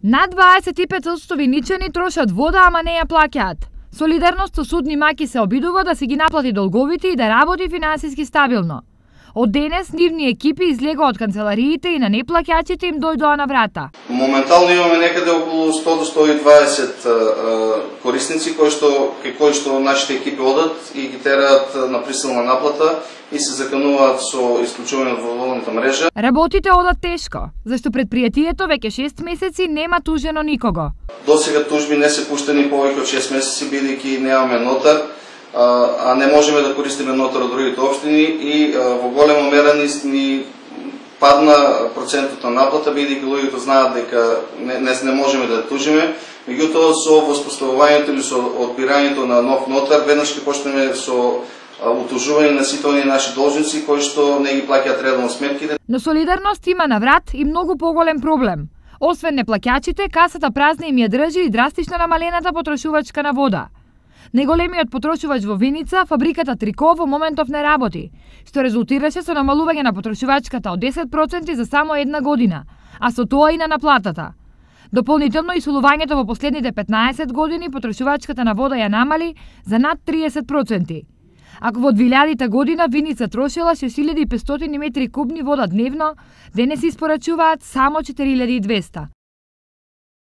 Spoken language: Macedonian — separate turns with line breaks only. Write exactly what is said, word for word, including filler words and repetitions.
Над дваесет и пет одсто виничани трошат вода, ама не ја плаќаат. Солидарност со судни маки се обидува да си ги наплати долговите и да работи финансиски стабилно. Од денес нивни екипи излегоа од канцелариите и на неплаќачите им дојдоа на врата.
Моментално имаме некаде околу сто до сто и дваесет корисници кои што кај кои што нашите екипи одат и ги тераат на присилна наплата и се закануваат со исклучување од водоводната мрежа.
Работите одат тешко, зашто предпријатието веќе шест месеци нема тужено никого.
Досега тужби не се пуштени повеќе од шест месеци бидејќи немаме нотар, а не можеме да користиме нотар од другите општини и во голема мера ни, ни падна процентот на наплата, бидејќи луѓето знаат дека не, не, не можеме да тужиме. Меѓутоа со воспоставувањето или со одбирањето на нов нотар, веднаш ќе почнеме со утужување на сите оние наши должници кои што не ги плаќаат редовно сметките.
Но Солидарност има на врат и многу поголем проблем. Освен неплаќачите, касата празна им ја држи и драстично намалената потрошувачка на вода. Најголемиот потрошувач во Виница, фабриката Трико, во моментов не работи, што резултираше со намалување на потрошувачката од десет проценти за само една година, а со тоа и на наплатата. Дополнително исолувањето во последните петнаесет години потрошувачката на вода ја намали за над триесет проценти. Ако во двилјадета година Виница трошила шест илјади и петстотини метри кубни вода дневно, денес испорачуваат само четири илјади и двесте.